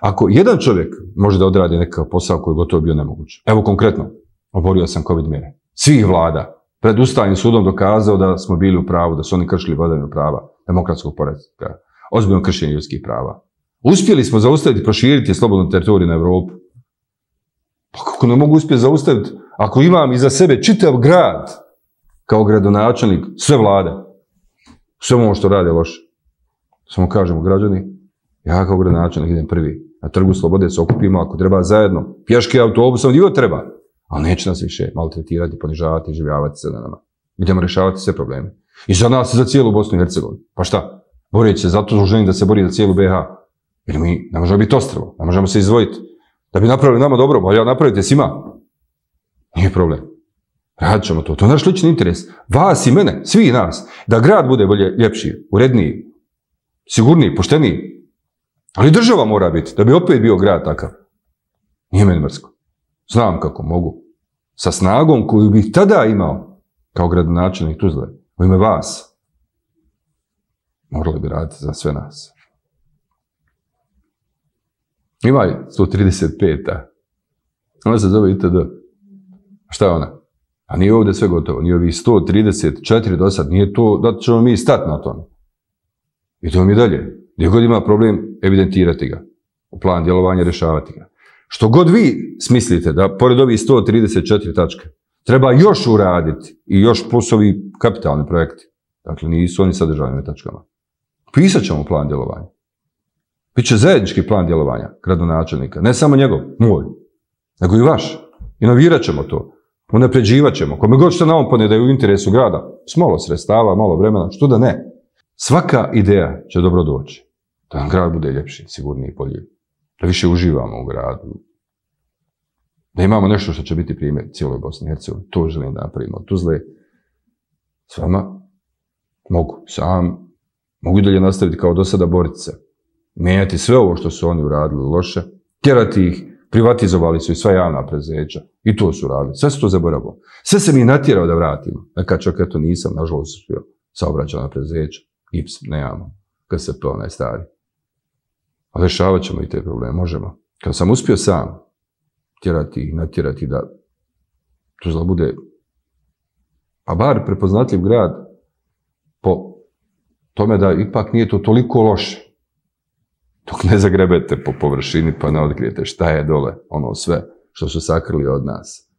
Ako jedan čovjek može da odradi nekakav posao koji je gotovo bio nemoguć, evo konkretno, oborio sam COVID mjere, svih vlada, pred Ustavnim sudom dokazao da smo bili u pravu, da su oni kršili vladavinu prava, demokratskog poretka, ozbiljno kršenje ljudskih prava. Uspjeli smo zaustaviti, proširiti slobodnu teritoriju na Evropu. Pa kako ne mogu uspjeti zaustaviti ako imam iza sebe čitav grad kao gradonačelnik, sve vlade, sve ono što rade loše. Samo kažemo građani, ja kao gradonačelnik idem prvi. Na Trgu Slobode se okupimo, ako treba zajedno, pješke autobusom, gdje treba. Ali neće nas više maltretirati, ponižavati, življavati se na nama. Idemo rješavati sve probleme. I za nas i za cijelu Bosnu i Hercegovinu. Pa šta? Boreći se zato što želim da se bori za cijelu B H. Jer mi ne možemo biti ostrvo, ne možemo se izdvojiti. Da bi napravili nama dobro, ali ja napravite svima. Nije problem. Radit ćemo to. To je naš lični interes. Vas i mene, svi nas. Da grad bude bolje, ljepši, uredniji, sigurniji, pošteniji. Ali država mora biti, da bi opet bio grad takav. Nije meni mrsko. Znam kako mogu. Sa snagom koju bih tada imao kao gradonačelnik Tuzle, u ime vas, morali bi raditi za sve nas. Ima je sto trideset peta. Ona se zove I T D. Šta je ona? A nije ovdje sve gotovo. Nije ovih sto trideset četiri do sad. Nije to da ćemo mi stati na tome. Idemo mi dalje. Gdje god ima problem, evidentirati ga. U plan djelovanja rješavati ga. Što god vi smislite da, pored ovih sto trideset četiri tačke, treba još uraditi i još plus ovi kapitalni projekti. Dakle, nisu oni sadržani na tačkama. Pisat ćemo plan djelovanja. Biće zajednički plan djelovanja gradonačelnika. Ne samo njegov, moj, nego i vaš. Inovirat ćemo to. Unapređivat ćemo. Kome god što naopane da je u interesu grada, s malo sredstava, malo vremena, što da ne. Svaka ideja će dobro doći. Da nam grad bude ljepši, sigurniji, bolji. Da više uživamo u gradu. Da imamo nešto što će biti primjer cijeloj Bosni i Hercegovini. To želim da napravimo. Tuzle, s vama mogu, sam, mogu i dalje nastaviti kao do sada boriti se. Mijenjati sve ovo što su oni uradili loše, tjerati ih, privatizovali su i sva javna preduzeća. I to su radili. Sve su to zaboravili. Sve se mi natjerao da vratimo. Neka čak eto nisam, nažalost, uspio saobraćajna preduzeća. I P S nemamo. K S P onaj stari. Ali rješavat ćemo i te probleme, možemo. Kad sam uspio sam tjerati ih, natjerati da Tuzla bude, pa bar prepoznatljiv grad po tome da ipak nije to toliko loše. Dok ne zagrebete po površini pa ne otkrijete šta je dole, ono sve što su sakrili od nas,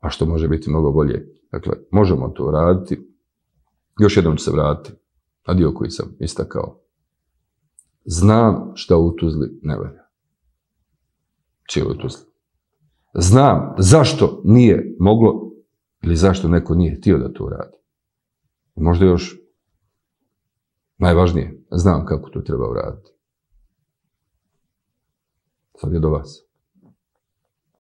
a što može biti mnogo bolje. Dakle, možemo to raditi. Još jednom ću se vratiti na dio koji sam istakao. Znam šta u Tuzli ne valja. Cijeloj Tuzli. Znam zašto nije moglo ili zašto neko nije htio da to radi. Možda još najvažnije, znam kako to treba uraditi. Sad je do vas.